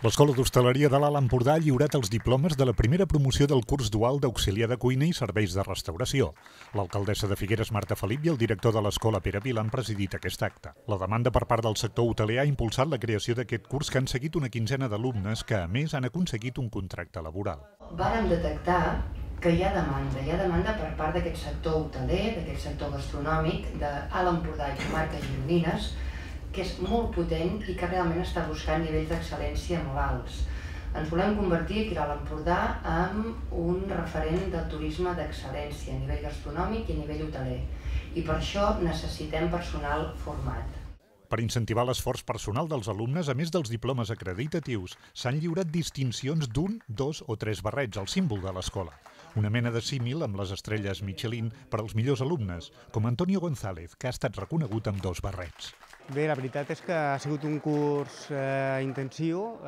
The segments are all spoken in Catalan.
L'Escola d'Hostaleria de l'Alt Empordà ha lliurat els diplomes de la primera promoció del curs dual d'auxiliar de cuina i serveis de restauració. L'alcaldessa de Figueres, Marta Felip, i el director de l'escola, Pere Vila, han presidit aquest acte. La demanda per part del sector hoteler ha impulsat la creació d'aquest curs que han seguit una quinzena d'alumnes que, a més, han aconseguit un contracte laboral. Vàrem detectar que hi ha demanda per part d'aquest sector hoteler, d'aquest sector gastronòmic, d'Alt Empordà i comarques gironines, que és molt potent i que realment està buscant nivells d'excel·lència molt alts. Ens volem convertir aquí a l'Alt Empordà en un referent del turisme d'excel·lència a nivell gastronòmic i a nivell hoteler. I per això necessitem personal format. Per incentivar l'esforç personal dels alumnes, a més dels diplomes acreditatius, s'han lliurat distincions d'1, 2 o 3 barrets, el símbol de l'escola. Una mena de símil amb les estrelles Michelin per als millors alumnes, com Antonio González, que ha estat reconegut amb 2 barrets. Bé, la veritat és que ha sigut un curs intensiu,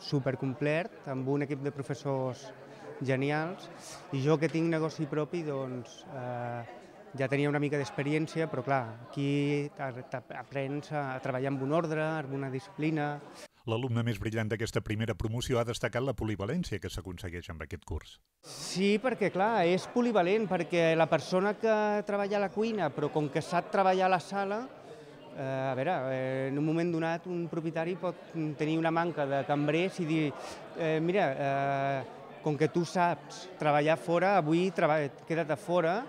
supercomplet, amb un equip de professors genials, i jo que tinc negoci propi, doncs, ja tenia una mica d'experiència, però clar, aquí aprens a treballar amb un ordre, amb una disciplina. L'alumne més brillant d'aquesta primera promoció ha destacat la polivalència que s'aconsegueix amb aquest curs. Sí, perquè clar, és polivalent, perquè la persona que treballa a la cuina, però com que sap treballar a la sala, a veure, en un moment donat un propietari pot tenir una manca de cambrers i dir mira, com que tu saps treballar fora, avui queda't a fora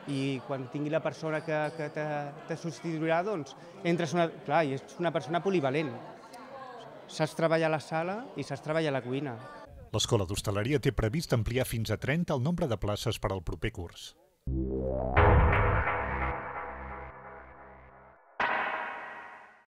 i quan tingui la persona que te substituirà, doncs entres clar, i és una persona polivalent. Saps treballar a la sala i saps treballar a la cuina. L'Escola d'Hostaleria té previst ampliar fins a 30 el nombre de places per al proper curs.